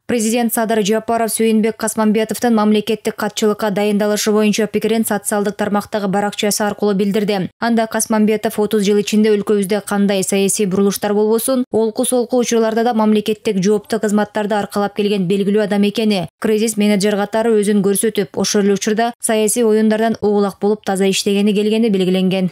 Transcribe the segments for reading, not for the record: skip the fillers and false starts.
Президент Садыр Жапаров Сүйүнбек Касмамбетовдун мамлекеттик катчылыкка дайындалышы боюнча пикирин социалдык тармактагы баракчасы аркылуу билдирди. Анда Касмамбетов 30 жыл ичинде өлкөбүздө кандай саясий бурулуштар болбосун, олку-солку учурларда да мамлекеттик жоопту кызматтарды аркалап келген белгилүү адам экени, кризис менеджер катары өзүн көрсөтүп, ошол эле учурда саясий оюндардан угулак болуп таза иштегени келгени белгиленген.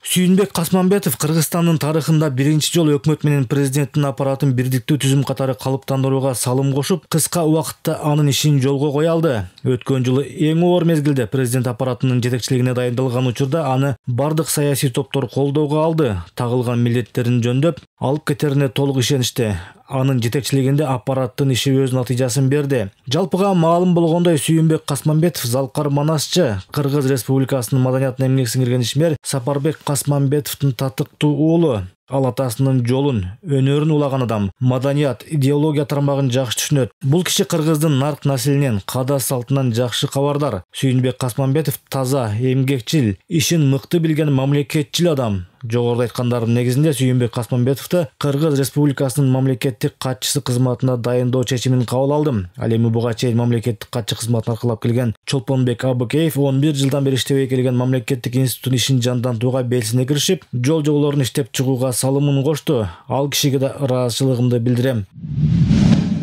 Сүйүнбек Касмамбетов Кыргызстандын тарыхында биринчи жолу өкмөт менен президенттин аппаратын бирдиктүү түзүм катары калыптандырууга салым кошуп, кыска убакытта анын ишин жолго кое алды. Өткөн жылы эң оор мезгилде президент аппаратынын жетекчилигине дайындалган учурда аны бардык саясий топтор колдоого алды, тагылган милдеттерин жөндөп, алып кетерине толук ишеништи. Анын жетекчилигинде аппараттын иши өз натыйжасын берди. Жалпыга маалым болгондой, Сүйүнбек Касмамбетов залкар манасчы, Кыргыз Республикасынын маданиятына эмгек сиңирген ишмер Сапарбек Касмамбетовдун татыктуу уулу. Ал атасынын жолун, өнөрүн улаган адам, маданият, идеология тармагын жакшы түшүнөт. Бул киши кыргыздын нарк населинен, када салтынан жакшы кабардар. Сүйүнбек Касмамбетов таза, эмгекчил, ишин мыкты билген мамлекетчил адам. Жогоруда айткандардын негизинде Сүйүнбек Касмамбетовду Кыргыз Республикасынын мамлекеттик катчысы кызматына дайындоо чечимин кабыл алдым. Ал эми буга чейин мамлекеттик катчы кызматын аркалап келген Чолпонбек Абыкеев 11 жылдан бери иштебей келген мамлекеттик институттун ишин жандантууга белсене киришип, жол-жоболорун иштеп чыгууга салымын кошту. Ал кишиге да ыраазычылыгымды билдирем.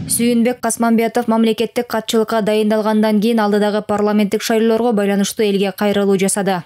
Сүйүнбек Касмамбетов мамлекеттик катчылыкка дайындалгандан кийин алдыдагы парламенттик шайлоолорго байланыштуу элге кайрылуу жасады.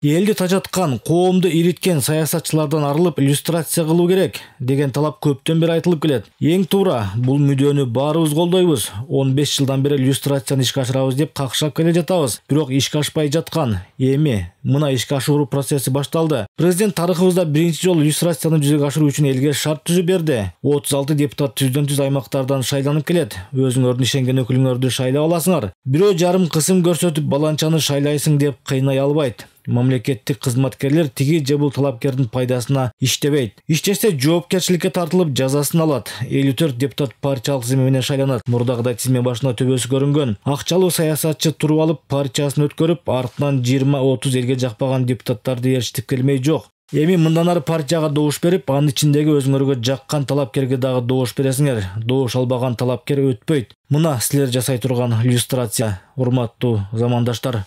Элди тажаткан, коомду ириткен саясатчылардан арылып иллюстрация кылуу керек деген талап көптөн бери айтылып келет. Эң туура, бул мүдөнү баарыбыз колдойбуз. 15 жылдан бери иллюстрацияны ишке ашырабыз деп какшап келе жатабыз. Бирок ишке ашпай жаткан. Эми мына ишке ашыруу процесси башталды. Президент тарыхыбызда биринчи жолу иллюстрацияны жүзөгө ашыруу үчүн элге шарт түзүп берди. 36 депутат түздөн-түз аймактардан шайланып келет. Өзүңөрдүн ишенген өкүлүңөрдү шайлап аласыңар. Бирөө жарым кысым көрсөтүп баланчаны шайлайсың деп кыйнай албайт. Мамлекеттик кызматкерлер тиги же бул талапкердин пайдасына иштебейт. Иштесе жоопкерчиликке тартылып жазасын алат. 54 депутат партиялык тизме менен шайланат. Мурдагыдай тизме башына төбөсү көрүнгөн. Акчалуу саясатчы туруп алып, партиясын өткөрүп, артынан 20-30 элге жакпаган депутаттарды ээрчитип келмей жок. Эми мындан ары партияга добуш берип, анын ичиндеги өзүңөргө жаккан талапкерге дагы добуш бересиңер. Добуш албаган талапкер өтпөйт. Мына силер жасай турган иллюстрация, урматтуу замандаштар.